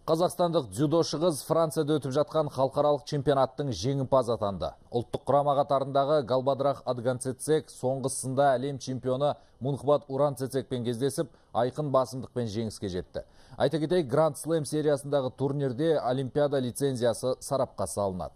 Қазақстандық дзюдошы қыз Францияда өтіп жатқан халықаралық чемпионаттың жеңімпазы атанды. Ұлттық құрама қатарындағы Галбадрах Отгонцэцэг соңғысында әлем чемпионы Мунхбат Уранцэцэгпен кездесіп, айқын басымдықпен жеңіске жетті. Айта кетейік, Гранд Слэм сериясындағы турнирде Олимпиада лицензиясы сарапқа салынады.